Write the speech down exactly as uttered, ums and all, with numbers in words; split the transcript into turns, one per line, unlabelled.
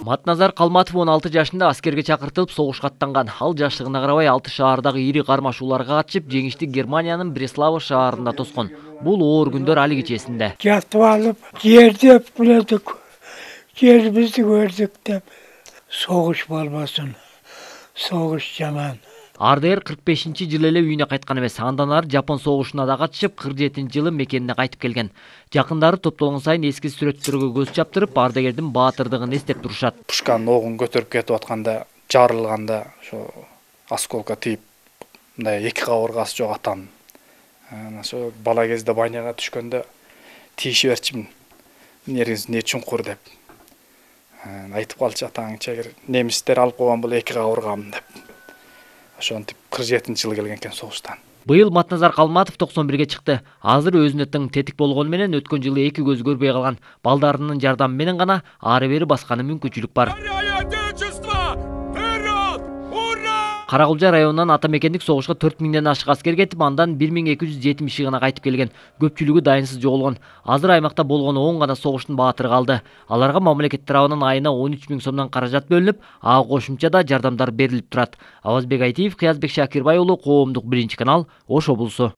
Матназар Калматов он алты жашында аскерге чакыртылып согушка аттанган. Ал жаштыгына карабай алты шаардагы ири кармашууларга катышып, жеңиштик Германиянын Бреслава шаарында тоскон. Бул оор күндөр али кечесинде.
Жатып алып, жерде билдик, жерибизди көрдүк деп. Согуш болбосун. Согуш жаман.
ар дэ эр кырк бешинчи жылы эле үйүнө кайткан эмес. Андан ары Жапон согушуна да катышып, кырк жетинчи жылы мекенине кайтып келген. Жакындары топтолгон сайын эски сүрөттөргө көз чаптырып, ардагердин баатырдыгын эстеп турушат.
Пушканын огун көтөрүп кетип атканда, жарылганда, ошо осколка тийип, мындай эки кабыргасы жок атанын. Ошо бала кезде баняга түшкөндө тийишип берчимин. Нериңиз не чуңкур деп. Айтып калчу атаң чегир, немистер алып койгон бул эки кабыргамын деп. Ошентип кырк жетинчи жылы келген экен согуштан.
Быйыл Матназар Калматов токсон бирге чыкты. Азыр өзүнө тең тетик болгону менен өткөн жылы эки көз көрбөй калган. Балдарынын жардамы менен гана ары бери басканы мүмкүнчүлүк бар. Каракулжа районунан ата мекендик согушка төрт миңден ашык аскер кетип, андан бир миң эки жүз жетимиши гана кайтып келген. Көпчүлүгү дайынсыз жоголгон. Азыр аймакта болгону он гана согуштун баатыры калды. Аларга мамлекет тарабынан айына он үч миң сомдон каражат бөлүнүп, ага кошумча да жардамдар берилип турат. Авазбек Айтиев, Кыязбек Шакирбай уулу, Коомдук биринчи канал, Ош облусу.